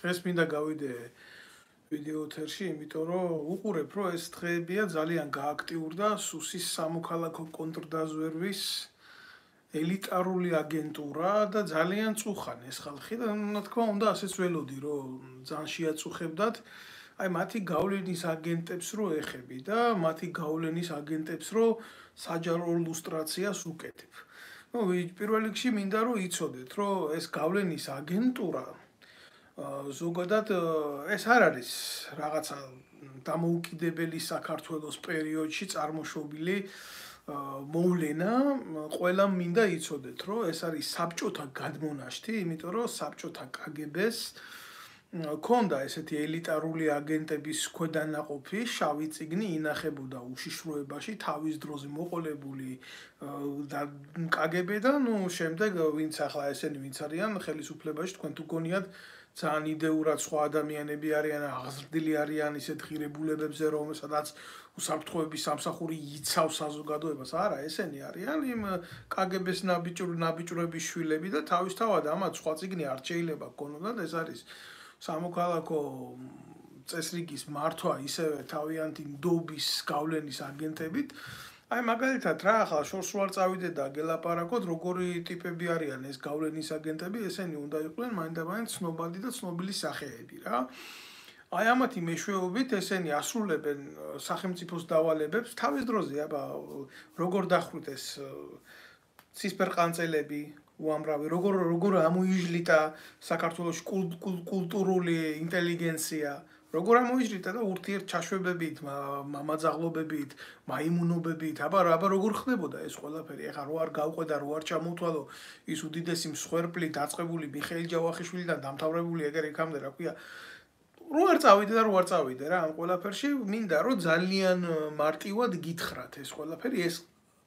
დღეს მინდა გავიდე ვიდეო ეთერში, იმიტომ რომ უყურებ, რომ ეს დღეებია ძალიან გააქტიურდა სუსის სამოქალაქო კონტრდაზვერვის ელიტარული აგენტურა და ძალიან წუხან ეს ხალხი და რა თქმა უნდა ასეც ველოდი, რომ ძალიან შეაწუხებდათ აი მათი გავლენის აგენტებს რო ეხები და მათი გავლენის აგენტებს რო საჯარო ლუსტრაციას უკეთებ. ნუ პირველ რიგში მინდა რომ იცოდეთ, რომ ეს გავლენის აგენტურა ზოგადად ეს არ არის რაღაცა დამოუკიდებელი საქართველოს პერიოდში წარმოშობილი მოვლენა, ყველამ მინდა იცოდეთ, რომ ეს არის საბჭოთა გადმონაშთი, იმიტომ რომ საბჭოთა კგბ-ს ქონდა ესეთი ელიტარული აგენტების ქვედანაყოფი, შავი წიგნი ინახებოდა უშიშროებაში თავის დროზე მოყოლებული და კგბ-დან, ნუ შემდეგ ვინც ახლა ესენი ვინც არიან ხელისუფლებაში, თქვენ თუ გონიათ ძალიან იდეურად სხვა ადამიანები არიან, აღზრდილი არიან ისეთ ღირებულებებზე, რომ სადაც უსაფრთხოების სამსახური იცავს საზოგადოებას, არა, ესენი არიან იმ კგბ-ს ნაბიჯურების შვილები და თავისთავად ამათ სხვა წიგნი არ შეიძლება გქონოდათ, ეს არის სამოქალაქო წესრიგის მართვა ისევე თავიანთი ნდობის გავლენის აგენტებით. აი მაგალითად რა ახლა შორს ვარ წავიდე და გელაპარაკოთ როგორი ტიპები არიან ეს გავლენის აგენტები, ესენი უნდა იყვნენ მაინდამაინც ცნობადი და ცნობილი სახეები რა. აი ამათი მეშვეობით ესენი ასრულებენ სახელმწიფოს დავალებებს თავის დროზე, აბა როგორ დახვით ეს ცისფერყანწელები უამრავი, როგორ ამოიჟლიტა საქართველოს კულტურული ინტელიგენცია, როგორ ამოიჟლიტა და ურთიერთჩაშვებებით, მამაძაღლობებით, მაიმუნობებით, აბა როგორ ხდებოდა ეს ყველაფერი, ეხლა რო არ გავყვე და რო არ ჩამოვთვალო ის უდიდესი მსხვერპლი დაწყებული მიხეილ ჯავახიშვილიდან დამთავრებული ეგერ იქამდე რა ქვია, რო არ წავიდე და რო არ წავიდე რა ამ ყველაფერში, მინდა რომ ძალიან მარტივად გითხრათ ეს ყველაფერი, ეს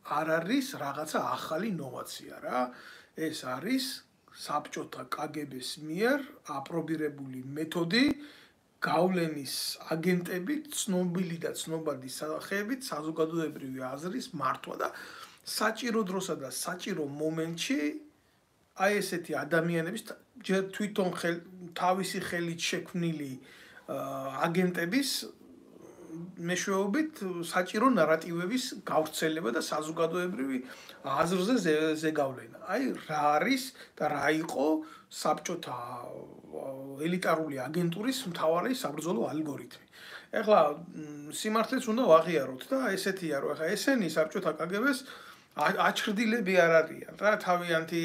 არ არის რაღაცა ახალი ნოვაცია რა. ეს არის საბჭოთა კგბ-ს მიერ აპრობირებული მეთოდი გავლენის აგენტებით, ცნობილი და ცნობადი სახეებით საზოგადოებრივი აზრის მართვა და საჭირო დროსა და საჭირო მომენტში აი ესეთი ადამიანების ჯერ თვითონ თავისი ხელით შექმნილი აგენტების მეშვეობით საჭირო ნარატივების გავრცელება და საზოგადოებრივი აზრზე ზეგავლენა. აი რა არის და რა იყო საბჭოთა ელიტარული აგენტურის მთავარი საბრძოლო ალგორითმი. ეხლა სიმართლეც უნდა ვაღიაროთ და ესეთია რომ ეხლა ესენი საბჭოთა კგბ-ს აჩრდილები არ არიან რა თავიანთი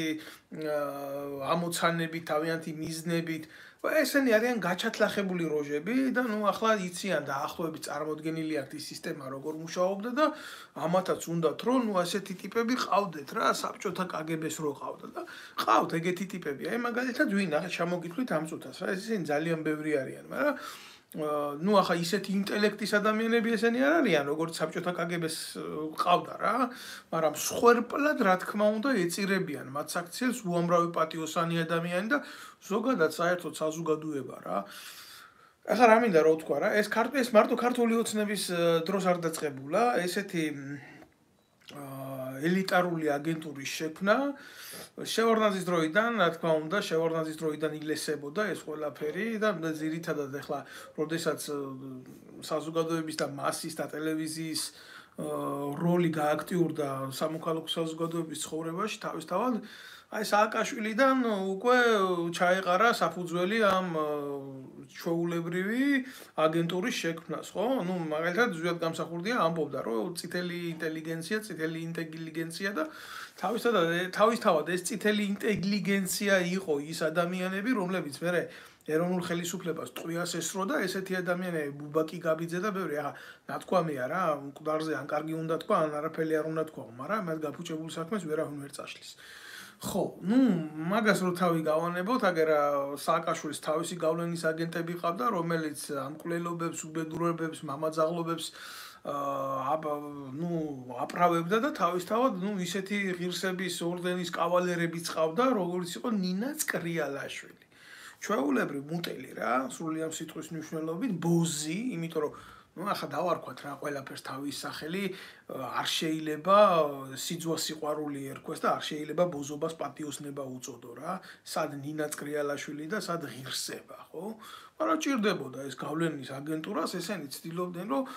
ამოცანებით, თავიანთი მიზნებით ესენი არიან გაჩათლახებული როჟები და ნუ ახლა იციან და ახლოებით წარმოდგენილი აქვს ის სისტემა როგორ მუშაობდა და ამათაც უნდათ რომ ნუ ასეთი ტიპები ყავდეთ რა საბჭოთა კგბ-ს რო ყავდა და ყავთ ეგეთი ტიპები. აი მაგალითად ვინ ახლა ჩამოგიტყვით ამ წუთას რა ესენი ძალიან ბევრი არიან, მაგრამ ნუ ახლა ისეთი ინტელექტის ადამიანები ესენი არ არიან როგორც საბჭოთა კგბ-ს ყავდა რა, მაგრამ სხვერპლად რა თქმა უნდა ეწირებიან მათ საქციელს უამრავი პატიოსანი ადამიანი და ზოგადად საერთოდ საზოგადოება რა. ახლა რა მინდა რომ თქვა რა, ეს მარტო ქართული ოცნების დროს არ დაწყებულა, ესეთი ელიტარული აგენტურის შექმნა შევარდნაძის დროიდან, რა თქმა უნდა, შევარდნაძის დროიდან ილესებოდა ეს ყველაფერი და ძირითადად ახლა, როდესაც საზოგადოების და მასის და ტელევიზიის როლი გააქტიურდა სამოქალაქო საზოგადოების ცხოვრებაში, თავისთავად აი სააკაშვილიდან უკვე ჩაეყარა საფუძველი ამ ჩვეულებრივი აგენტურის შექმნას, ხო? ნუ მაგალითად ზუსტად გამსახურდია ამბობდა, რომ წითელი ინტელიგენცია და თავისთავად ეს წითელი ინტელიგენცია იყო ის ადამიანები, რომლებიც მერე ეროვნულ ხელისუფლებას ტყვიას ესროდა, ესეთი ადამიანები ბუბაკი გაბიძე და ბევრი, ახლა ნათქვამია რა, მკვდარზე ან კარგი უნდა თქვა, ან არაფერი არ უნდა თქვა, მაგრამ მათ გაფუჭებულ საქმეს ვერავინ ვერ წაშლის. ხო, ნუ მაგას რო თავი გავანებოთ, აგერა სააკაშვილის თავისი გავლენის აგენტები ყავდა, რომელიც ამკვლელობებს, უბედურებებს, მამაძაღლობებს აპრავებდა და თავისთავად ისეთი ღირსების ორდენის კავალერებიც ყავდა, როგორც იყო ნინა წკრიალაშვილი. ჩვეულებრივ მუტელი რა, სრული ამ სიტყვის მნიშვნელობით, ბოზი, იმიტომ რომ ნუ ახლა დავარქვათ რა ყველაფერს თავის სახელი არ შეიძლება სიძვა სიყვარული ერქვეს და არ შეიძლება ბოზობას პატიოსნება უწოდო რა სად ნინა წრიალაშვილი და სად ღირსება ხო მაგრამ ჭირდებოდა ეს გავლენის აგენტურას ესენი ცდილობდნენ რომ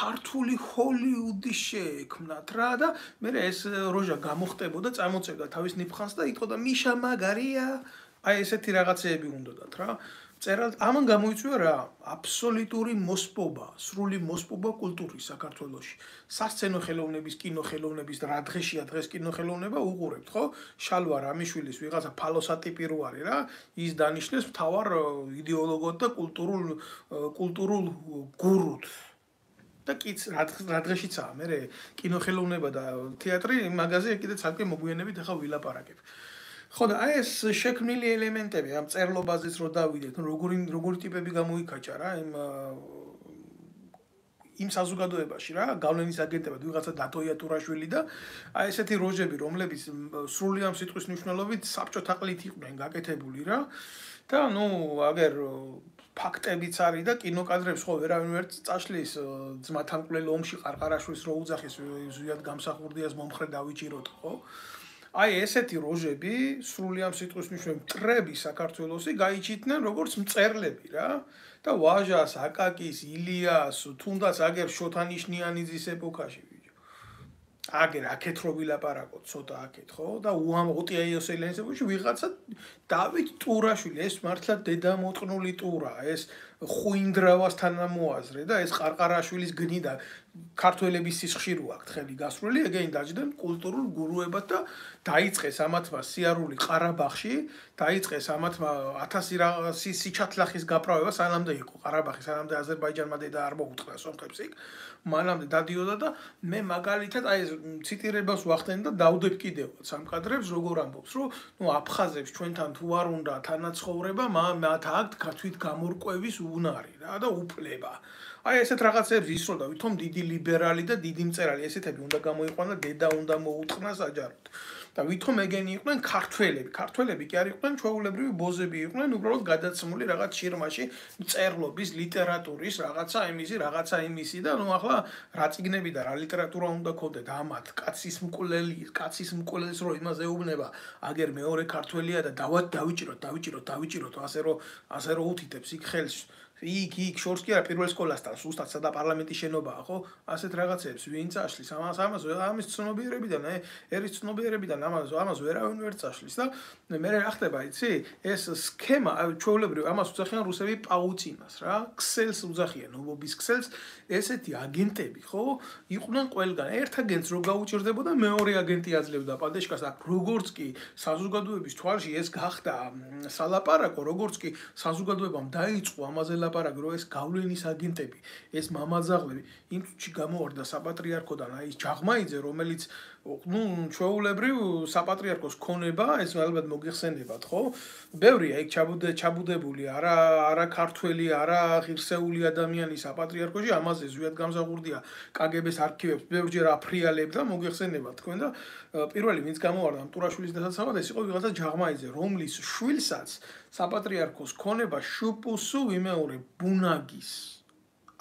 ქართული ჰოლივუდი შეექმნათ რა და მე ეს როჟა გამოხტებოდა წამოწევდა თავის ნიფხანს და იტყოდა მიშა მაგარია აი ესეთი რაღაცეები უნდათ რა წერალ ამან გამოიწვია რა აბსოლუტური მოსპობა, სრული მოსპობა კულტურის საქართველოში. სასცენო ხელოვნების, კინოხელოვნების რა დღეშია დღეს კინოხელოვნება უყურებთ, ხო? შალვა რამიშვილის ვიღაცა ფალოსატიპი რო არის რა, ის დანიშნეს მთავარ იდეოლოგად და კულტურულ გურუთ. და კიც რა დღეშიცაა, მე კინოხელოვნება და თეატრი მაგაზე კიდე ცალკე მოგვიანებით ახლა ვილაპარაკებ. ხო და აი ეს შექმნილი ელემენტები ამ წერლობაზეც რო დავიდეთ, როგორი ტიპები გამოიკაჭა რა იმ საზოგადოებაში რა, გავლენის აგენტებად ვიღაცა დათო იატურაშვილი და აი ესეთი როჟები, რომლებიც სრული ამ სიტყვის მნიშვნელობით საბჭოთა ყლით იყვნენ გაკეთებული რა. და ნუ აგერ ფაქტებიც არის და კინოკადრებს ხო ვერავინ ვერ წაშლის ძმათან მკვლელ ომში ყარყარაშვილს რო უძახის ზვიად გამსახურდიას მომხრე დავიჭიროთ ხო? აი ესეთი როჟები სრული ამ სიტყვის მნიშვნელობით მტრები საქართველოსი გაიჩიტნენ როგორც მწერლები რა და ვაჟას, აკაკის, ილიას, თუნდაც აგერ შოთანიშნიანიძის ეპოქაში ბიჭო. აგერ აქეთ რო ვილაპარაკოთ ცოტა აქეთ ხო და ოტია იოსელიანის ეპოქაში ვიღაცა დავით ტურაშვილი ეს მართლა დედამოწნული ტურა ეს ხუინდრავას თანამოაზრე და ეს ყარყარაშვილის გნიდა ქართველების სისხლში რო აქ ხელი გასრული ეგენი დაჯდნენ კულტურულ გურუებად და დაიწყეს ამათმა სიარული ყარაბაღში დაიწყეს ამათმა 1000 სიჩათლახის გაправება სანამდე იყო ყარაბაღი სანამდე აზერბაიჯანმა დედა არ მოუწყდა სომხებს იქ მანამდე დადიოდა და მე მაგალითად აი ეს ციტირებას ვახდენ და დავდებ კიდევაც ამ კადრებს როგორ ამბობს რომ ნუ აფხაზებს ჩვენთან თუ არ უნდა თანაცხოვრება მათ აქ თვით გამორკვევის უნარი რა და უფლება აი ესეთ რაღაცებს ისროდა ვითომ დიდი ლიბერალი და დიდი მწერალი ესეთები უნდა გამოიყვანა დედა უნდა მოუტყნა საჯაროდ და ვითომ ეგენი იყვნენ ქართველები კი არ იყვნენ ჩვეულებრივი ბოზები იყვნენ უბრალოდ გადაცმული რაღაც შირმაში მწერლობის ლიტერატურის რაღაცა იმისი და ნუ ახლა რა წიგნები და რა ლიტერატურა უნდა ქონდეთ ამათ კაცის მკვლელს რო იმაზე ეუბნება აგერ მეორე ქართველია და დავიჭიროთ ასე რო უთითებს იქ ხელს იქ შორს კი არა პირველ სკოლასთან სუსტად სადა პარლამენტის შენობაა ხო ასეთ რაღაცებს ვინ წაშლის ამის ცნობიერებიდან ერის ცნობიერებიდან ამას ვერავინ ვერ წაშლის და მე რა ხდება იცი ეს სქემა ჩვეულებრივ ამას უძახიან რუსები პაუცინას რა ქსელს უძახიან ობობის ქსელს ესეთი აგენტები ხო იყვნენ ყველგან ერთ აგენტს რო გაუჭირდებოდა მეორე აგენტი აძლევდა პადეშკას და როგორც კი საზოგადოების თვალში ეს გახდა სალაპარაკო როგორც კი საზოგადოებამ დაიწყო ამაზე ლაპარაკი რომ ეს გავლენის აგენტები ეს მამაძაღლები იმ წუთში გამოვარდა საპატრიარქოდან აი ეს ჯაღმაიძე რომელიც ნუ ჩვეულებრივ საპატრიარქოს ქონება ეს ალბათ მოგიხსენებათ ხო ბევრია იქ ჩაბუდებული არა ქართველი არა ღირსეული ადამიანი საპატრიარქოში ამაზე ზვიად გამსახურდია კგბ-ს არქივებს ბევრჯერ აფრიალებდა მოგიხსენებათ თქვენ და პირველი ვინც გამოვარდა ტურაშვილის დასაცავად ეს იყო ვიღაცა ჯაღმაიძე რომლის შვილსაც საპატრიარქოს ქონება შუპუსუ ვიმეორე ბუნაგის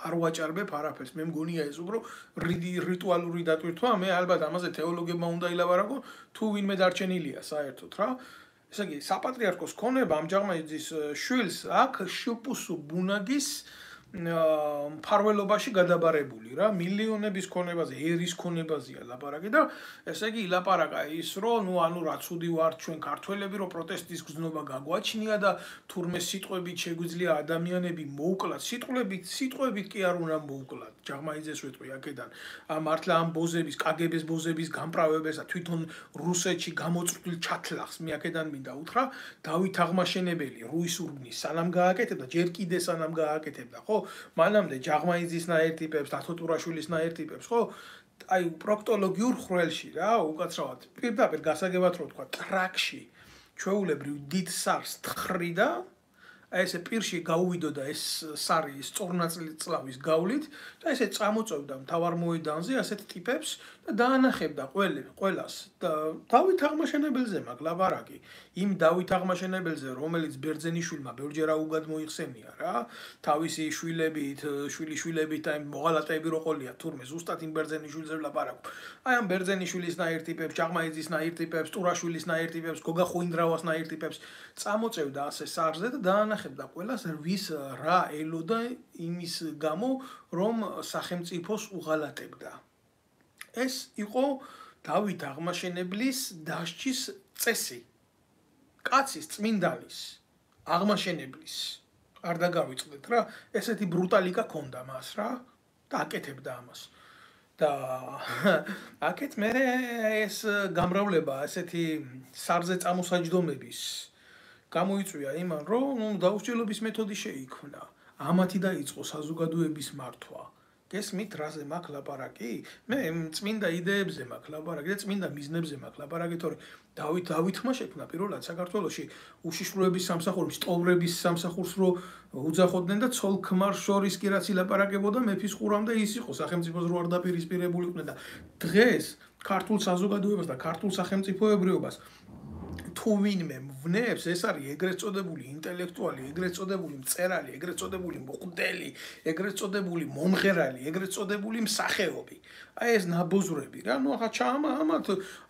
არ ვაჭარბებ არაფერს მე მგონია ეს უფრო რიტუალური დატვირთვა მე ალბათ ამაზე თეოლოგებმა უნდა ილაპარაკონ თუ ვინმე დარჩენილია საერთოდ რა ესე იგი საპატრიარქოს ქონება ამ ჯაღმაიძის შვილს აქ შუპუსუ ბუნაგის მფარველობაში გადაბარებული რა მილიონების ქონებაზე ერის ქონებაზეა ლაპარაკი და ესე იგი ილაპარაკა ის რომ ნუ ანუ რა ცუდი ვართ ჩვენ ქართველები რომ პროტესტის გზნობა გაგვაჩნია და თურმე სიტყვებით შეგვიძლია ადამიანები მოუკლათ სიტყვებით კი არ უნდა მოუკლათ ჯაღმაიძეს ვეტყვი აქედან მართლა ამ ბოზების კგბ-ს ბოზების გამправებასა თვითონ რუსეთში გამოწვრთნილ ჩათლახს მე აქედან მინდა უთხრა დავით აღმაშენებელი რუისურგნის სანამ გააკეთებდა ჯერ კიდე სანამ გააკეთებდა ხო მანამდე ჯაღმაიძისნაირ ტიპებს დათო ტურაშვილის ნაირ ტიპებს ხო აი პროქტოლოგიურ ხრელში რა უკაცრავად პირდაპირ გასაგებად რო თქვა ტრაქში ჩვეულებრივ დიდ სარს თხრიდა აი ესე პირში გაუვიდოდა ეს სარი სწორნაწილწლავის გავლით და ესე წამოწევდა მთავარ მოედანზე ასეთ ტიპებს და დაანახებდა ყველას და დავით აღმაშენებელზე მაგ ლაბარაკი იმ დავით აღმაშენებელზე რომელიც ბერძენიშვილმა ბევრჯერ აუგად მოიხსენია რა თავისი შვილებით შვილიშვილებით და იმ მოღალატეები რო ყოლია თურმე ზუსტად იმ ბერძენიშვილზე ლაბარაკობ აი ამ ბერძენიშვილის ნაირ ტიპებს ჭაღმაიძის ნაირ ტიპებს ტურაშვილის ნაირ ტიპებს გოგა ხუინდრავას ნაირ ტიპებს წამოწევდა ასე სარზე და დაანახებდა ყველას ვის რა ელოდა იმის გამო რომ სახელმწიფოს უღალატებდა ეს იყო დავით აღმაშენებლის დასჯის წესი. კაცის წმინდანის აღმაშენებლის არ დაგავიწყდეთ რა, ესეთი ბრუტალიკა ქონდა მას რა და აკეთებდა ამას. და აქეთ მე ეს გამრავლება ესეთი სარზე წამოსაჯდომების გამოიწვია იმან რომ დაუსჯელობის მეთოდი შეიქმნა. ამათი დაიწყო საზოგადოების მართვა. გესმით რაზე მაქვს ლაპარაკი? მე წმინდა იდეებზე მაქვს ლაპარაკი და წმინდა მიზნებზე მაქვს ლაპარაკი, თორე დავითმა შექმნა პირველად საქართველოში უშიშროების სამსახური, სტოვრების სამსახურს რო უძახოდნენ და ცოლ-ქმარ შორის კი რაც ილაპარაკებოდა მეფის ყურამდე ის იყო სახელმწიფოს რო არ დაპირისპირებული იყვნენ და დღეს ქართულ საზოგადოებას და ქართულ სახელმწიფოებრიობას თუ ვინმე ვნებს ეს არის ეგრეთ წოდებული ინტელექტუალი, ეგრეთ წოდებული მწერალი, ეგრეთ წოდებული მოხდელი, ეგრეთ წოდებული მომღერალი, ეგრეთ წოდებული მსახეობი. აი ეს ნაბოზრები რა, ნუ ახლა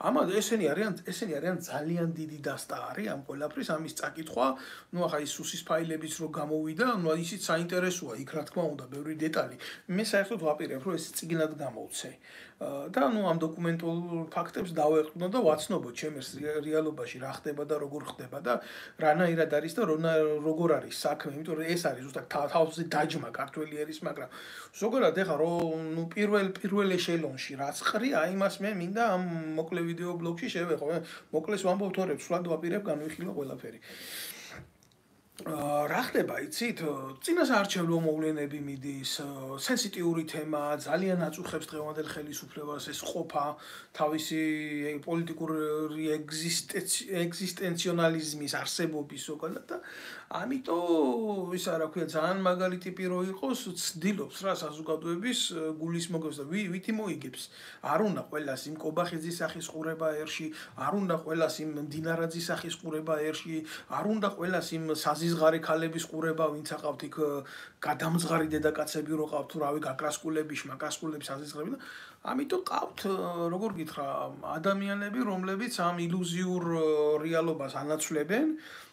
ამათ ესენი არიან ძალიან დიდი დასტაარი ამ ყველაფრის, ამის წაკითხვა, ნუ ახლა ის სუსის ფაილებიც რო გამოვიდა, ნუ ისიც საინტერესოა, იქ რა თქმა უნდა, ბევრი დეტალი. მე საერთოდ ვაპირებ, რომ ეს წიგნად გამოვცე. და ნუ ამ დოკუმენტურ ფაქტებს დავეყრდნო და ვაცნობო ჩემს რეალობაში რა ხდება და როგორ ხდება და რანაირად არის და როგორ არის საქმე, იმიტომ რომ ეს არის ზუსტად თავზე დაჯმა ქართველი ერის, მაგრამ ზოგადად ეხა რომ ნუ პირველ ეშელონში რაც ყრია, იმას მე მინდა ამ მოკლე ვიდეო ბლოგში შევეხო. მოკლეს ვამბობ თორემ, სულად ვაპირებ განვიხილო ყველაფერი. რა ხდება, იცით? წინასაარჩევნო მოვლენები მიდის, სენსიტიური თემა, ძალიან აწუხებს დღევანდელ ხელისუფლებას ეს ყოფა, თავისი პოლიტიკური ეგზისტენციონალიზმის არსებობის ზოგადად და ამიტომ ისა რა ქვია, ძალიან მაგარი ტიპი რო იყოს, ცდილობს რა საზოგადოების გულის მოგებას და ვითი მოიგებს. არ უნდა ყველას იმ კობახიძის სახის ყურება ერში, არ უნდა ყველას იმ მდინარაძის სახის ყურება ერში, არ უნდა ყველას იმ საზიზღარი ქალების ყურება, ვინც აყავთ იქ გადამძღარი დედაკაცები რო ყავთ, თუ რავი, გაკრასკულები, შმაკრასკულები, საზიზღრები და ამიტომ ყავთ, როგორ გითხრა, ადამიანები, რომლებიც ამ ილუზიურ რეალობას ანაცვლებენ.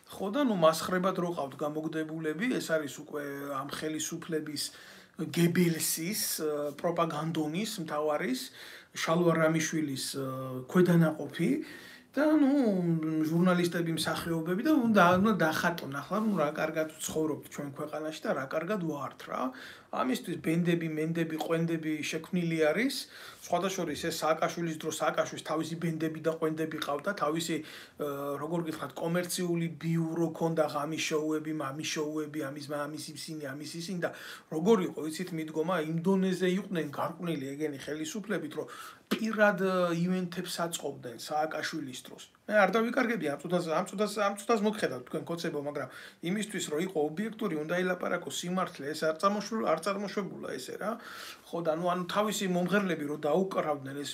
ხო და ნუ მასხრებად რო ყავთ გამოგდებულები, ეს არის უკვე ამ ხელისუფლების გებელსის, პროპაგანდონის მთავარის, შალვა რამიშვილის ქვედანაყოფი და ნუ ჟურნალისტები, მსახიობები და უნდა დახატონ ახლა ნუ რა კარგად ცხოვრობთ ჩვენ ქვეყანაში და რა კარგად ვართ რა. ამისთვის ბენდები, მენდები, ყვენდები შექმნილი არის. სხვადასხვის ეს სააკაშვილის დროს სააკაშვილის თავისი ბენდები და ყვენდები ყავდა, თავისი როგორ გითხრათ, კომერციული ბიურო ქონდა, ღამის შოუები, მამის შოუები, ამის ისინი, ამის ისინი და როგორ იყო, იცით, მიდგომა იმ დონეზე იყვნენ გარყვნილი ეგენი ხელისუფლებით, რომ პირად ივენთებს აწყობდნენ სააკაშვილის დროს. მე არ დავიკარგები ამ წუთას მოგხედავთ თქვენ კოცებო, მაგრამ იმისთვის რომ იყო ობიექტური, უნდა ილაპარაკო სიმართლე, ეს არ წარმოშვებულა ესე რა. ხო და ანუ თავისი მომღერლები რო დაუკრავდნენ ეს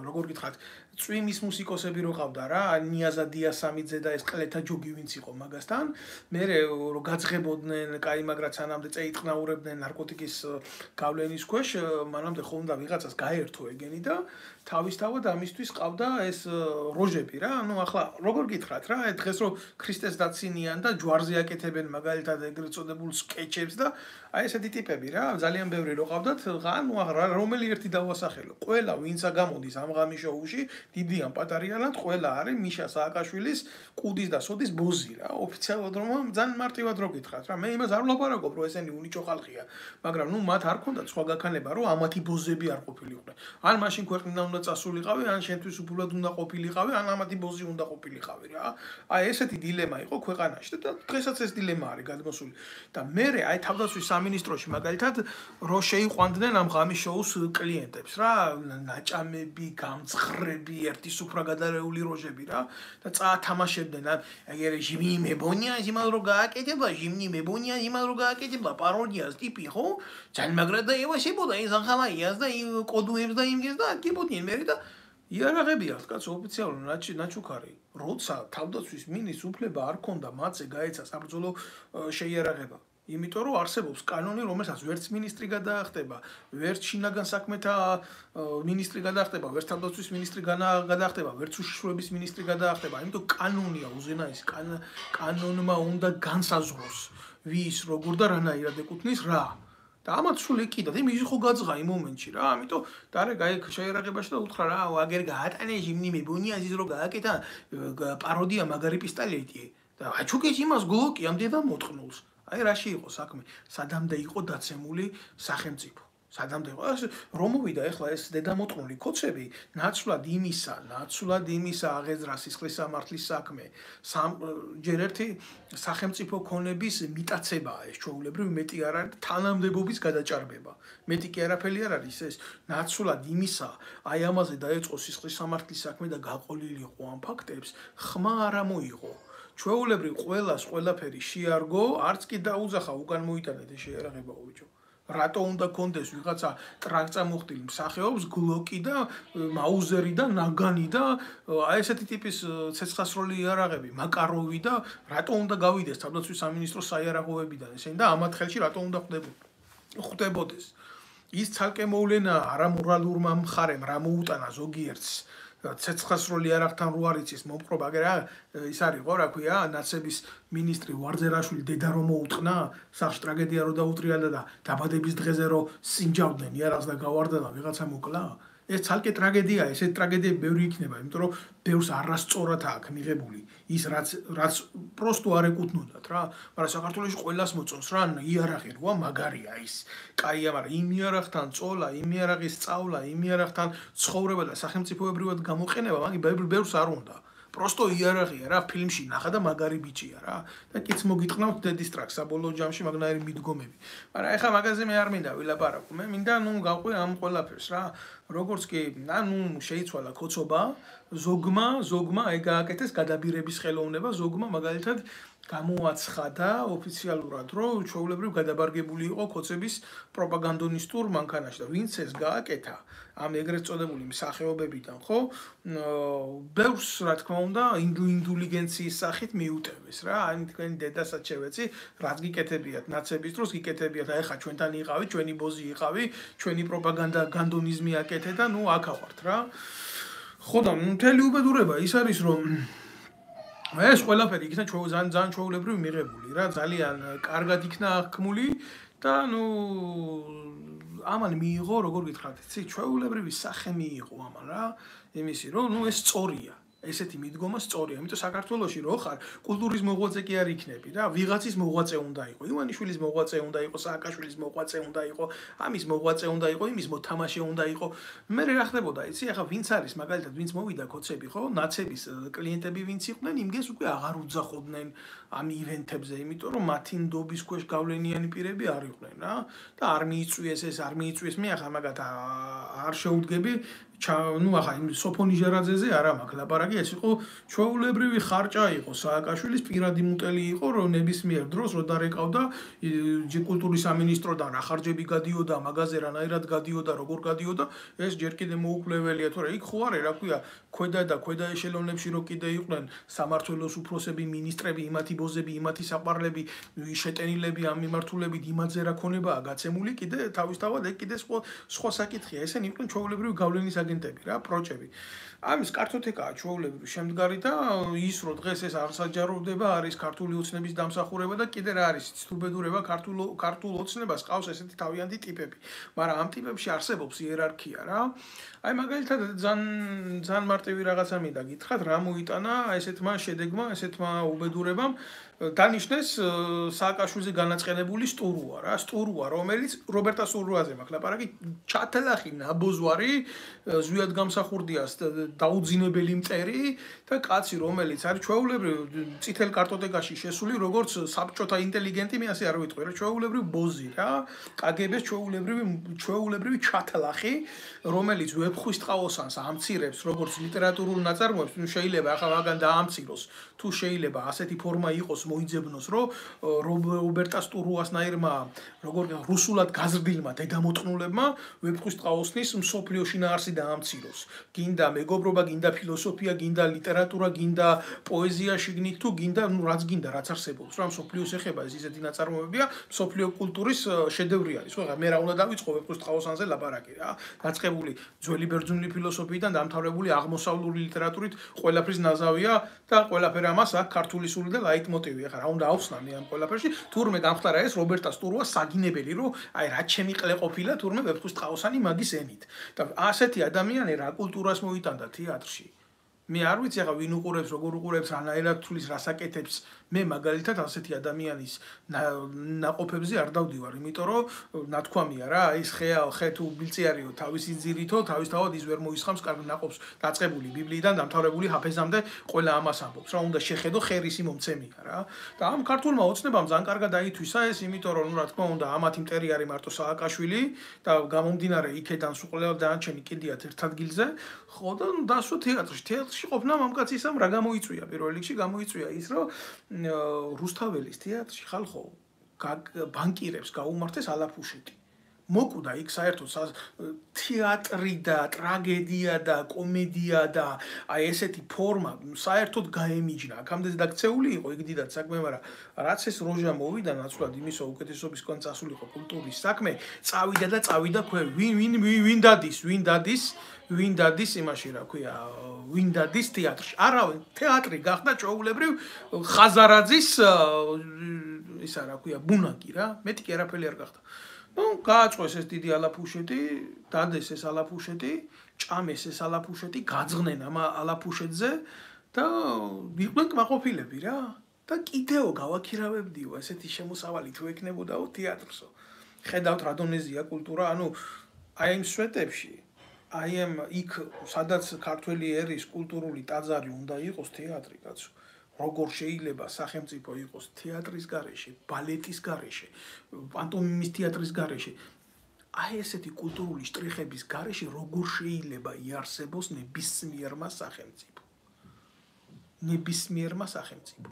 როგორ გითხრათ, წვიმის მუსიკოსები რო ყავდა რა, ნიაზა დიასამიძე და ეს ყლეთა ჯოგი ვინც იყო მაგასთან, მე რო გაძღებოდნენ, კაი, მაგრამ სანამდე წეიტყნაურებდნენ ნარკოტიკის გავლენის ქვეშ, მანამდე ხო უნდა ვიღაცას გაერთო ეგენი და თავისთავად ამისთვის ყავდა ეს როჟები რა, ну ახლა როგორ გითხრათ რა, დღეს რო ქრისტეს დაცინიან და ჯვარზე აკეთებენ მაგალითად ეგრეთ წოდებულ სკეჩებს და აი ესეთი ტიპები რა, ძალიან ბევრი რო ყავდათ, ну ახლა რომელი ერთი დავასახელო. ყველა ვინცა გამოდის ამ ღამის შოუში, დიდი ან პატარიანად, ყველა არის მიშა სააკაშვილის კუდის და სოდის ბოზი რა, ოფიციალურად რომ ძალიან მარტივად რო გითხრათ რა, მე იმას არ ვლაპარაკობ, რომ ესენი უნიჭო ხალხია, მაგრამ ну მათ არ ქონდათ სხვა გაქანება, რომ ამათი ბოზები არ ყოფილიყვნენ. ან მაშინ ქვეყნიდან უნდა წასულიყავი, ან შენთვის უფულად უნდა ყოფილიყავი, ან სამათი ბოზი უნდა ყოფილიყავი რა. აი ესეთი დილემა იყო ქვეყანაში და დღესაც ეს დილემა არის გადმოსული. და მე აი თავდაცვის სამინისტროში მაგალითად რო შეიყვანდნენ ამ ღამის შოუს კლიენტებს რა, ნაჭამები, გამძღრები, ერთი სუფრა გადარეული როჟები რა და წაათამაშებდნენ აი რეჟიმი მებონია იმალ რო გააკეთება, ჟიმნი მებონია იმალ რო გააკეთება, პაროდიას ტიპი ხო? ძალიან მაგრად და ევასებოდა ის ახალაიას და იმ კოდუებს და იმგეს და აკეთებოდნენ მე და იარაღები აქვს კაცო ოფიციალურად ნაჩუქარი. როცა თავდაცვის მინისტრს უფლება არ ქონდა მათზე გაეცა საბრძოლო შეიარაღება. იმიტომ რომ არსებობს კანონი, რომელსაც ვერც მინისტრი გადაახტება, ვერც შინაგან საქმეთა მინისტრი გადაახტება, ვერც თავდაცვის მინისტრი გადაახტება, ვერც უშიშროების მინისტრი გადაახტება. იმიტომ კანონია უზენაესი, კანონმა უნდა განსაზღვროს ვის როგორ და რანაირად ეკუთვნის რა. და ამათ სულ ეკიდა, იმის ხო გაძღა იმ მომენტში რა, ამიტომ დარე გაიქ შეერაღებაში და უთხრა რა, აგერ გაატანე ჟიმნი მებონია ის რო გააკეთა პაროდია მაგარი პისტოლეტი და აჩუქეს იმას გლოკი ამდენა მოთხნულს. აი რაში იყო საქმე, სადამდე იყო დაცემული სახელმწიფო. სადამდე იყო რომ მოვიდა ეხლა ეს დედამოწყნული კოცები, ნაცვლად იმისა აღეძრა სისხლის სამართლის საქმე. ჯერ ერთი სახელმწიფო ქონების მიტაცებაა ეს ჩვეულებრივ მეტი არ არის თანამდებობის გადაჭარბება. მეტი კი არაფერი არ არის ეს ნაცვლად იმისა, აი ამაზე დაეწყო სისხლის სამართლის საქმე და გაყოლილიყო ამ ფაქტებს, ხმა არ მოიღო. ჩვეულებრივ ყველას ყველაფერი შეარგო, არც კი დაუძახა უკან მოიტანეთ ეს შეერაღება ბიჭო. რატო უნდა კონდეს ვიღაცა ტრაკწამოხტილი მსახეობს გლოკი და მაუზერი და ნაგანი და აი ესეთი ტიპის ცეცხლსროლი იარაღები, მაკაროვი და რატო უნდა გავიდეს თავდაცვის სამინისტროს საიარაღოებიდან ესენი და ამათ ხელში რატო უნდა ხვდებოდეს. ის ცალკე მოვლენა არამორალურმა მხარემ რა მოუტანა ზოგიერთს ცეცხლსროლი იარაღთან რო არ იცის მომპყრობა, აგერ ის არის ხო რა ქვია, ნაცების მინისტრი ვარძერაშვილი დედა რომ მოუტყნა, სახში ტრაგედია რო დაუტრიალა და დაბადების დღეზე რო სინჯავდნენ იარაღს და გავარდა და ვიღაცა მოკლა. ეს ცალკე ტრაგედია, ესეთი ტრაგედიები ბევრი იქნება, იმიტომ რომ ბევრს არასწორად აქვს მიღებული ის რაც პროსტო არ ეკუთვნოდათ რა, მაგრამ საქართველოში ყველას მოწონს რა, იარაღი როა მაგარია ის. კაია, მაგრამ იმ იარაღთან წოლა, იმ იარაღის სწავლა, იმ იარაღთან ცხოვრება და სახელმწიფოებრივად გამოყენება, მაგ ბევრს არ უნდა. პროსტო იარაღია რა, ფილმში ნახა და მაგარი ბიჭია რა. და კიც მოგიტყნავთ დედის ტრაქს საბოლოო ჯამში მაგნაირი მიდგომები. მაგრამ ეხლა მაგაზე მე არ მინდა ვილაპარაკო. მე მინდა გავყვი ამ ყველაფერს რა. როგორც კი, შეიცვალა კოცობა, ზოგმა ეგ გააკეთეს გადაბირების ხელოვნება, ზოგმა მაგალითად გამოაცხადა ოფიციალურად, რომ ჩვეულებრივ გადაბარგებული იყო კოცების პროპაგანდონისტურ მანქანაში და ვინც ეს გააკეთა ამ ეგრეთ წოდებული მსახეობებიდან, ხო? ბევრს რა თქმა უნდა ინტელიგენციის სახით მიუტევეს რა. აი თქვენი დედასაც შევეცი, რაც გიკეთებიათ ნაცების დროს გიკეთებიათ, აი ხა ჩვენთან იყავი, ჩვენი ბოზი იყავი, ჩვენი პროპაგანდა განდონიზმი აკეთე და აქ ავართ რა. ხო და მთელი უბედურება ის არის რომ ეს ყველაფერი იქნა ძალიან ჩვეულებრივ მიღებული რა, ძალიან კარგად იქნა აღქმული და ამან მიიღო, როგორ გითხრათ, იცი, ჩვეულებრივი სახე მიიღო ამან რა, იმისი რომ ეს სწორია. ესეთი მიდგომა სწორია, იმიტომ საქართველოში რო ხარ, კულტურის მოღვაწე კი არ იქნები რა, ვიღაცის მოღვაწე უნდა იყო, ივანიშვილის მოღვაწე უნდა იყო, სააკაშვილის მოღვაწე უნდა იყო, ამის მოღვაწე უნდა იყო, იმის მოთამაშე უნდა იყო. მე რა ხდებოდა, იცი, ახლა ვინც არის, მაგალითად, ვინც მოვიდა კოცები, ხო, ნაცების კლიენტები ვინც იყვნენ, იმგეს უკვე აღარ უძახოდნენ ამ ივენთებზე, იმიტომ რომ მათი ნდობის ქვეშ გავლენიანი პირები არ იყვნენ რა და არ მიიწვიეს ეს, არ მიიწვიეს მე ახლა მაგათ არ შეუდგები ახლა იმ სოფონი ჟერაძეზე არა მაქვს ლაპარაკი, ეს იყო ჩვეულებრივი ხარჭა იყო სააკაშვილის პირადი მუტელი იყო, რომ ნებისმიერ დროს რო დარეკავდა კულტურის სამინისტროდან რა ხარჯები გადიოდა, მაგაზე რანაირად გადიოდა, როგორ გადიოდა, ეს ჯერ კიდე მოუკვლეველია, თორე იქ ხო არის, რა ქვია, ქვედა ეშელონებში რო კიდე იყვნენ სამართველოს უფროსები, მინისტრები, იმათი ბოზები, იმათი საყვარლები, შეტენილები ამ მიმართულებით იმათზე რა ქონებაა გაცემული, კიდე თავისთავად ეგ კიდე სხვა საკითხია, ესენი იყვნენ ჩვეულებრივი გავლენის აგენტები რა, პროჭები. ამის კარტოთეკაა ჩვეულებრივ შემდგარი და ის რო დღეს ეს არ საჯაროვდება, არის ქართული ოცნების დამსახურება და კიდე რა არის ცდუბედურება ქართულ ოცნებას ყავს ესეთი თავიანთი ტიპები. მაგრამ ამ ტიპებში არსებობს იერარქია რა. აი მაგალითად ძალიან მარტივი რაღაცა მინდა გითხრათ, რა მოიტანა ესეთმა შედეგმა, ესეთმა უბედურებამ დანიშნეს სააკაშვილზე განაწყენებული სტურუა რა, სტურუა, რომელიც რობერტა სტურუაზე მაქვს ლაპარაკი, ჩათელახი ნაბოძვარი, ზვიად გამსახურდიას დაუძინებელი მტერი და კაცი, რომელიც არის ჩვეულებრივ წითელ კარტოტეკაში შესული, როგორც საბჭოთა ინტელიგენტი, მე ასე არ ვიტყვი რა, ჩვეულებრივ ბოზი რა, კგბ-ს ჩვეულებრივი ჩათელახი, რომელიც ვეფხვის ტყაოსანს ამცირებს როგორც ლიტერატურულ ნაწარმოებს, ნუ შეიძლება ახლა მაგან დაამციროს, თუ შეიძლება ასეთი ფორმა იყოს მოიძებნოს, რომ რობერტა სტურუასნაირმა, როგორ რუსულად გაზრდილმა დედამოწყნულებმა ვეფხვის ტყაოსნის მსოფლიო შინაარსი დაამციროს. გინდა მეგობრობა, გინდა ფილოსოფია, გინდა ლიტერატურა, გინდა პოეზია შიგნით თუ გინდა, ნუ რაც გინდა, რაც არსებობს, რა მსოფლიოს ეხება ეს ისეთი ნაწარმოებია, მსოფლიო კულტურის შედევრი არის. ხო, მე რა უნდა დავიწყო ვეფხვის ტყაოსანზე ლაპარაკი რა. დაწყებული ძველი ბერძნული ფილოსოფიიდან დამთავრებული აღმოსავლური ლიტერატურით ყველაფრის ნაზავია და ყველაფერი ამას აქვს ქართული სული და ლაიტმოტივი. ახლა რა უნდა ავხსნა მე ამ ყველაფერში? თურმე გამხდარა ეს რობერტა სტურუა საგინებელი, რომ აი რა ჩემი ყლე ყოფილა თურმე ვეფხვის ტყაოსანი მაგის ენით. და ასეთი ადამიანი რა კულტურას მოიტანდა თეატრში. მე არ ვიცი ახლა ვინ უყურებს, როგორ უყურებს, რანაირად თulis რასაკეთებს. მე მაგალითად ასეთი ადამიანის ნაყოფებზე არ დავდივარ, იმიტომ რომ ნათქვამია რა, ის ხე თუ ბილწიარიო თავისი ძირითო, თავისთავად ის ვერ მოისხამს კარგ ნაყოფს, დაწყებული ბიბლიიდან დამთავრებული ჰაფეზამდე ყველა ამას ამბობს. რა უნდა შეხედო ხერისი მომცემია რა. და ამ ქართულმა ოცნებამ ძალიან კარგად დაითვისა ეს, იმიტომ რომ რა თქმა უნდა, ამათი მტერი არის მარტო სააკაშვილი და გამომდინარე იქედან სულ ყველა დანარჩენი კიდიათ ერთ ადგილზე, ხო და დასვა თეატრში ყოფნა მამკაცისამ რა გამოიწვია პირველ რიგში გამოიწვია ის რომ რუსთაველის თეატრში ხალხო ბანკირებს გაუმართეს ალაფუშეტი. მოკვდა იქ საერთოდ თეატრი და ტრაგედია და კომედია და აი ესეთი ფორმა საერთოდ გაემიჯნა. აქამდე დაქცეული იყო იქ დიდად საქმე, მაგრამ რაც ეს როჟა მოვიდა ნაცვლად იმისო უკეთესობისგან წასულიყო კულტურის საქმე, წავიდა ვინ დადის იმაში რა ქვია, ვინ დადის თეატრში. არავინ, თეატრი გახდა ჩვეულებრივ ხაზარაძის ისა რა ქვია, ბუნაკი რა, მეტი კი არაფერი არ გახდა. ნუ გააწყვეს ეს დიდი ალაფუშეტი, დადეს ეს ალაფუშეტი, ჭამეს ეს ალაფუშეტი, გაძღნენ ამ ალაფუშეტზე და იყვნენ კმაყოფილები რა. და კიდევ გავაქირავებდიო ესეთი შემოსავალი თუ ეკნებოდაო თეატრსო. ხედავთ რა დონეზეა კულტურა, ანუ აი იმ სვეტებში აი ამ იქ სადაც ქართველი ერის კულტურული ტაძარი უნდა იყოს თეატრი კაცო. როგორ შეიძლება სახელმწიფო იყოს თეატრის გარეშე, ბალეტის გარეშე, პანტომიმის თეატრის გარეშე. აი ესეთი კულტურული შტრიხების გარეშე როგორ შეიძლება იარსებოს ნებისმიერმა სახელმწიფო.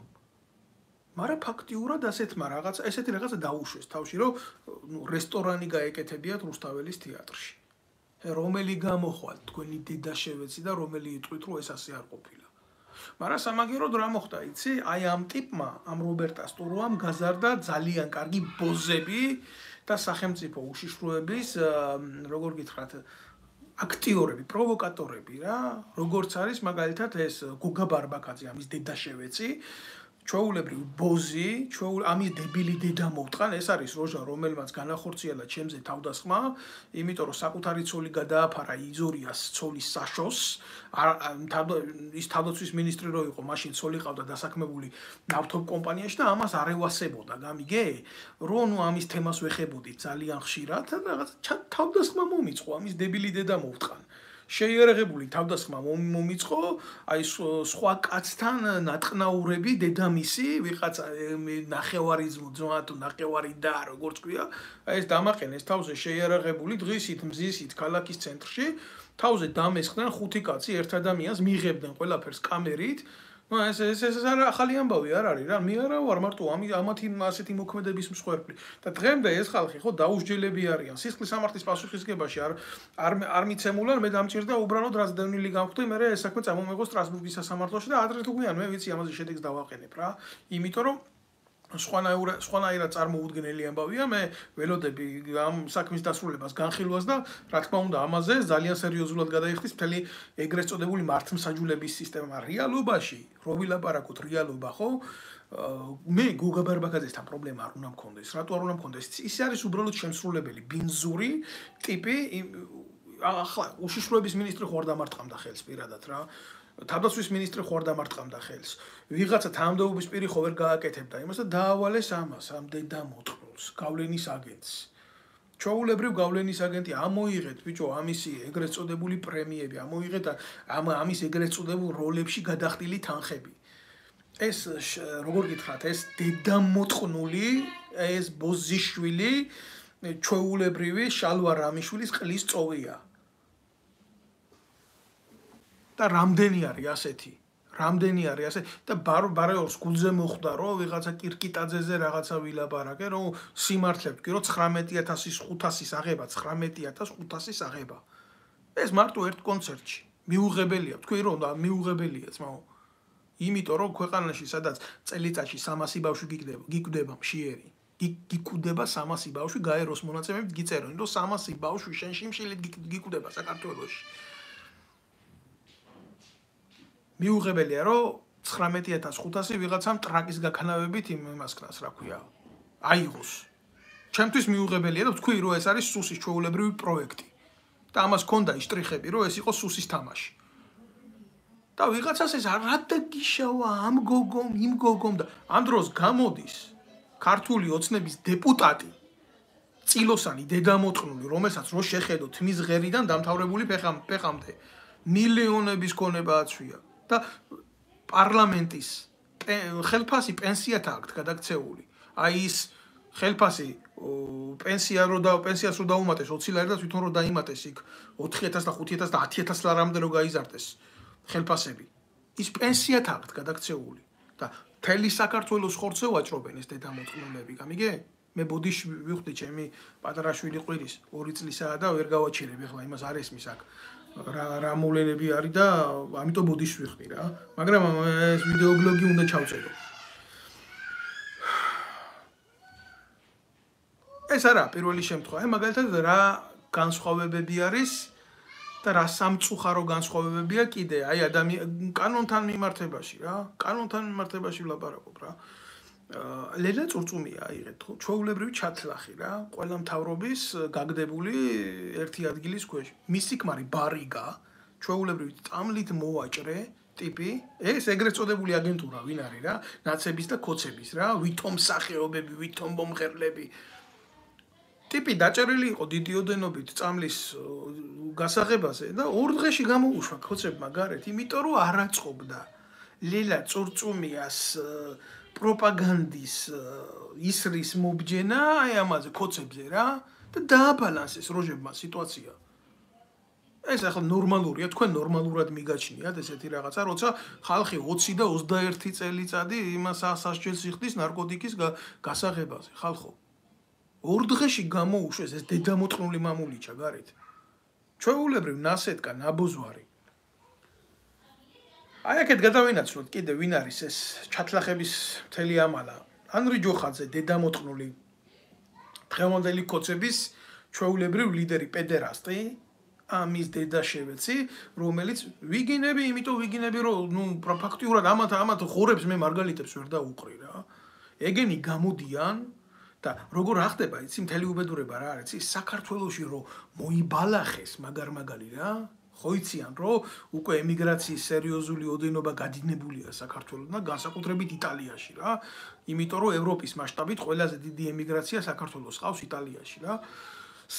მაგრამ ფაქტიურად ასეთმა რაღაცა, ესეთი რაღაცა დაუშვეს თავში, რომ რესტორანი გაეკეთებიათ რუსთაველის თეატრში. რომელი გამოხვალთ თქვენი დედაშევეცი და რომელი იტყვით რომ ეს ასე არ ყოფილა. მაგრამ სამაგეროდ რა მოხდა იცი? აი ამ ტიპმა, ამ რობერტა სტურუამ გაზარდა ძალიან კარგი ბოზები და სახელმწიფო უშიშროების, როგორ გითხრათ, აქტიორები, პროვოკატორები რა, როგორც არის მაგალითად ეს გოგა ბარბაკაძე, ამის დედაშევეცი, ჩვეულებრივ ბოზი, ამის დებილი დედა მოვტყან, ეს არის როჟა, რომელმაც განახორციელა ჩემზე თავდასხმა, იმიტომ რომ საკუთარი ცოლი გადააფარა იზორიას ცოლის საშოს, ის თავდაცვის მინისტრი რო იყო, მაშინ ცოლი ყავდა დასაქმებული ნავთობ კომპანიაში და ამას არ ევასებოდა, გამიგე? რომ ნუ ამის თემას ვეხებოდით ძალიან ხშირად და რაღაც თავდასხმა მომიწყო, ამის დებილი დედა მოვტყან. შეიარაღებული თავდასხმა მომიწყო, აი სხვა კაცთან ნატყნაურები, დედამისი, ვიღაცა ნახევარიზმო ძმა თუ ნახევარი და როგორც ქვია, აი ეს დამაყენეს თავზე შეიარაღებული დღისით, მზისით ქალაქის ცენტრში, თავზე დამესხდნენ 5 კაცი ერთ ადამიანს, მიიღებდნენ ყველაფერს კამერით. ეს ახალი ამბავი არ არის რა, მე არა ვარ მარტო ამათი ასეთი მოქმედების მსხვერპლი. და დღემდე ეს ხალხი ხო დაუსჯელები არიან. სისხლის სამართლის პასუხისგებაში არ მიცემულან, მე დამჭირდა უბრალოდ რაც დევნილი გამხვდი, მე ეს საქმე წამომეღო სტრასბურგის სასამართლოში და ადრე თუ გვიან მე ვიცი ამაზე შედეგს დავაყენებ რა. იმიტომ რომ სხვანაირად წარმოუდგენელი ამბავია, მე ველოდები ამ საქმის დასრულებას განხილვას და რა თქმა უნდა ამაზე ძალიან სერიოზულად გადაიხდის მთელი ეგრეთ წოდებული მართლმსაჯულების სისტემა რეალობაში, რო ვილაპარაკოთ რეალობა, ხო? მე გოგა ბარბაკაძესთან პრობლემა არ უნდა მქონდეს. რატო არ უნდა მქონდეს? ის არის უბრალოდ შემსრულებელი, ბინზური ტიპი, ახლა უშიშროების მინისტრი ხوار დამარტყამდა ხელს პირადად რა. თავდაცვის მინისტრი ხوار დამარტყამდა ხელს. ვიღაცა თანამდებობის პირი ხო ვერ გააკეთებდა იმას და დაავალეს ამას, ამ დედამოწყნულს, გავლენის აგენტს. ჩვეულებრივ გავლენის აგენტი ამოიღეთ, ბიჭო, ამისი ეგრეთ წოდებული პრემიები, ამოიღეთ ამის ეგრეთ წოდებულ როლებში გადახდილი თანხები. ეს როგორ გითხრათ, ეს დედამოწყნული, ეს ბოზიშვილი, ჩვეულებრივი შალვა რამიშვილის ყლის წოვია. და რამდენი არის ასეთი? რამდენი არის ასე და ბარეორს გულზე მოხვდა რომ ვიღაცა კირკიტაძეზე რაღაცა ვილაპარაკე რომ სიმართლე ვთქვი რომ 19500-ის 500-ის აღება 19500-ის აღება ეს მარტო ერთ კონცერტში მიუღებელია ვთქვი რომ მიუღებელია ძმაო იმიტომ რომ ქვეყანაში სადაც წელიწადში 300 ბავშვი გიკვდება მშიერი გიკვდება 300 ბავშვი გაეროს მონაცემებით გიწერონ რომ 300 ბავშვი შენში მშილით გიკვდება საქართველოში მიუღებელია რომ 19500 ვიღაცამ ტრაკის გაქნავებით იმას ქნას რა ქვია აიღოს ჩემთვის მიუღებელია და ვთქვი რომ ეს არის სუსის ჩვეულებრივი პროექტი და ამას ქონდა ისტრიხები რომ ეს იყო სუსის თამაში და ვიღაცას ეს რატო გიშავა ამ გოგომ იმ გოგომ და ამ დროს გამოდის ქართული ოცნების დეპუტატი წილოსანი დედამოწყნული რომელსაც რო შეხედოთ მის ღერიდან დამთავრებული ფეხამდე მილიონების ქონება აცვია და პარლამენტის ხელფასი პენსიათ აქვს გადაქცეული. აი ის ხელფასი პენსიას რო დაუმატეს 20 ლარი და თვითონ რო დაიმატეს იქ 4000 და 5000 და 10000 ლარამდე რო გაიზარდეს ხელფასები. ის პენსიათ აქვს გადაქცეული და მთელი საქართველოს ხორცზე ვაჭრობენ ეს დედამოწყნულები. გამიგე? მე ბოდიში ვიხდი ჩემი პატარა შვილი ყვირის 2 წლისაა და ვერ გავაჩერებ ახლა იმას არ ესმის აქ. რა მოვლენები არის და ამიტომ ბოდიში ვიხდი რა. მაგრამ ეს ვიდეო ბლოგი უნდა ჩავწერო. ეს არა პირველი შემთხვევა. აი მაგალითად რა განსხვავებები არის და რა სამწუხარო განსხვავებებია კიდე. აი კანონთან მიმართებაში რა. კანონთან მიმართებაში ვლაპარაკობ რა. ლელა წურწუმია აიღეთ ხო ჩვეულებრივი ჩათლახი რა ყველა მთავრობის გაგდებული ერთი ადგილის ქვეშ მისი ქმარი ბარიგა ჩვეულებრივი წამლით მოვაჭრე ტიპი ეს ეგრეთ წოდებული აგენტურა ვინ არის რა ნაცების და ქოცების რა ვითომ სახეობები ვითომ მომღერლები ტიპი დაჭერილი იყო დიდი ოდენობით წამლის გასაღებაზე და 2 დღეში გამოუშვა ქოცებმა გარეთ იმიტომ რომ არ აწყობდა ლელა წურწუმიას პროპაგანდის ისრის მობჯენა აი ამაზე ქოცებზე რა და დააბალანსეს როჟებმა სიტუაცია. ეს ახლა ნორმალურია, თქვენ ნორმალურად მიგაჩნიათ ესეთი რაღაცა, როცა ხალხი 20 და 21 წელიწადი იმას სასჯელს იხდის ნარკოტიკის გასაღებაზე, ხალხო. 2 დღეში გამოუშვეს ეს დედამოწყნული მამულიჩა გარეთ. ჩვეულებრივ ნასეთკა ნაბოძვარი აი აქეთ გადავინაცვლოთ კიდე ვინ არის ეს ჩათლახების მთელი ამალა ანრი ჯოხაძე დედამოწყნული დღევანდელი ქოცების ჩვეულებრივ ლიდერი პედერასტი ამის დედა შევეცი რომელიც ვიგინები იმიტომ ვიგინები რომ ნუ ფაქტიურად ამათ ხორებს მე მარგალიტებს ვერ დაუყრი რა ეგენი გამოდიან და როგორ ახდება იცი მთელი უბედურება რა არის იცი საქართველოში რომ მოიბალახეს მაგარ-მაგალი რა ხო იციან რომ უკვე ემიგრაციის სერიოზული ოდენობა გადინებულია საქართველოსთან განსაკუთრებით იტალიაში რა იმიტომ რომ ევროპის მასშტაბით ყველაზე დიდი ემიგრაცია საქართველოს ყავს იტალიაში რა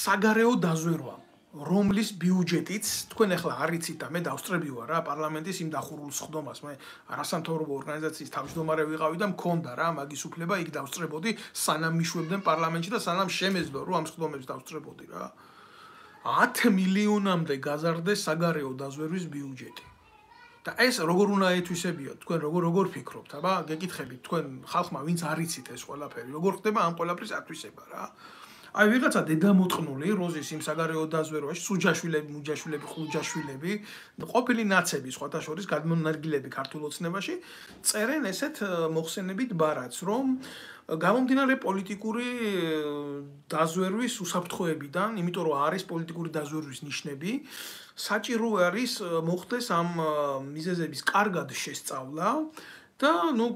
საგარეო დაზვერვა რომლის ბიუჯეტიც თქვენ ახლა არ იცით და მე დავსწრები ვარ რა პარლამენტის იმ დახურულ სხდომას მე არასამთავრობო ორგანიზაციის თავმჯდომარე ვიყავი და მქონდა რა მაგის უფლება იქ დავსწრებოდი სანამ მიშვებდნენ პარლამენტში და სანამ შემეძლო რომ ამ სხდომებს დავსწრებოდი რა 10 მილიონამდე გაზარდეს საგარეო დაზვერვის ბიუჯეტი. და ეს როგორ უნდა ეთვისებიოთ? თქვენ როგორ ფიქრობთ? აბა, გეკითხებით თქვენ ხალხმა, ვინც არ იცით ეს ყველაფერი, როგორ ხდება ამ ყველაფრის ათვისება რა? აი ვიღაცა დედამოწყნული როზის იმ საგარეო დაზვერვაში, სუჯაშვილები, მუჯაშვილები, ხუჯაშვილები, ყოფილი ნაცები სხვათა შორის გადმონარგილები ქართულ ოცნებაში, წერენ ესეთ მოხსენებით ბარათს, რომ გამომდინარე პოლიტიკური დაზვერვის უსაფრთხოებიდან, იმიტომ რომ არის პოლიტიკური დაზვერვის ნიშნები, საჭირო არის მოხდეს ამ მიზეზების კარგად შესწავლა და ნუ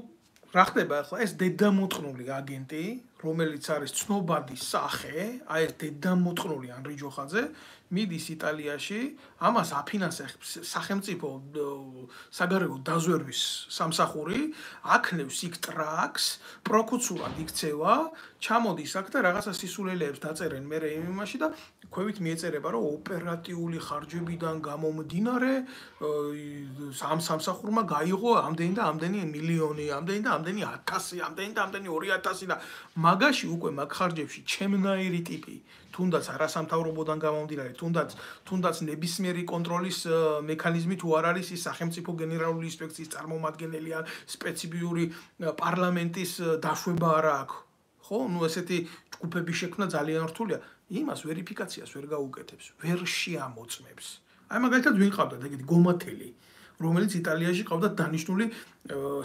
რა ხდება ახლა ეს დედამოწყნული აგენტი, რომელიც არის ცნობადი სახე, აი ეს დედამოწყნული ანრი ჯოხაძე, მიდის იტალიაში, ამას აფინანსებს სახელმწიფო საგარეო დაზვერვის სამსახური, აქნევს იქ ტრაქს, პროკუცურად იქცევა, ჩამოდის აქ და რაღაცა სისულელეებს დაწერენ მერე იმაში და ქვევით მიეწერება, რომ ოპერატიული ხარჯებიდან გამომდინარე ამ სამსახურმა გაიღო ამდენი და ამდენი მილიონი, ამდენი და ამდენი 1000, ამდენი და ამდენი 2000 და მაგაში უკვე მაგ ხარჯებში ჩემნაირი ტიპი, თუნდაც არასამთავრობოდან გამომდინარე, თუნდაც ნებისმიერი კონტროლის მექანიზმი თუ არ არის ის სახელმწიფო გენერალური ინსპექციის წარმომადგენელი ან სპეციფიური პარლამენტის დაშვება არა აქვს. ხო, ნუ ესეთი ჯგუფების შექმნა ძალიან რთულია. იმას ვერიფიკაციას ვერ გაუკეთებს, ვერ შეამოწმებს. აი მაგალითად ვინ ყავდათ ეგეთი გომათელი, რომელიც იტალიაში ყავდათ დანიშნული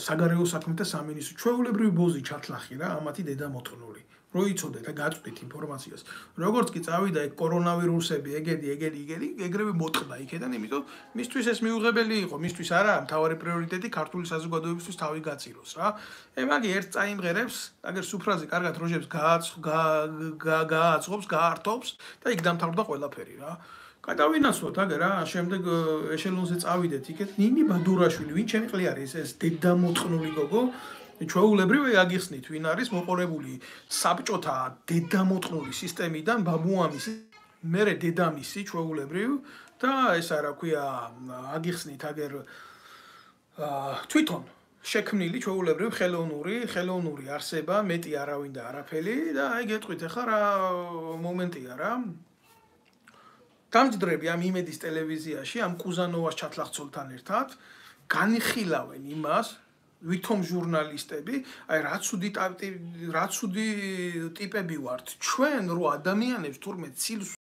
საგარეო საქმეთა სამინისტრო. ჩვეულებრივი ბოზი ჩათლახი რა, ამათი დედამოწყნული. რო იცოდეთ და გაწვდით ინფორმაციას. როგორც კი წავიდა ეგ კორონავირუსები, ეგრევე მოტყდა იქიდან, იმიტომ მისთვის ეს მიუღებელი იყო, მისთვის არა, მთავარი პრიორიტეტი ქართული საზოგადოებისთვის თავი გაწიროს რა. მაგ ერთ წაიმღერებს, აგერ სუფრაზე კარგად როჟებს გააწყობს, გაართობს და იქ დამთავრდა ყველაფერი რა. გადავინაცვლოთ აგერ რა, შემდეგ ეშელონზე წავიდეთ იქეთ, ნინი ბადურაშვილი, ვინ ჩემი ყლი არის ეს დედამოწყნული გოგო? ჩვეულებრივ აგიხსნით, ვინ არის მოყოლებული საბჭოთა დედამოწყნული სისტემიდან ბაბუამისი, მერე დედამისი ჩვეულებრივ და ესა რა ქვია, აგიხსნით აგერ თვითონ შექმნილი ჩვეულებრივ ხელოვნური არსება, მეტი არავინ და არაფერი და აი გეტყვით ახლა რა მომენტია რა. დამჯდრები ამ იმედის ტელევიზიაში, ამ კუზანოვას ჩათლახცოლთან ერთად განიხილავენ იმას, ვითომ ჟურნალისტები, აი რა ცუდი ტიპები ვართ ჩვენ, რო ადამიანებს თურმე ცილს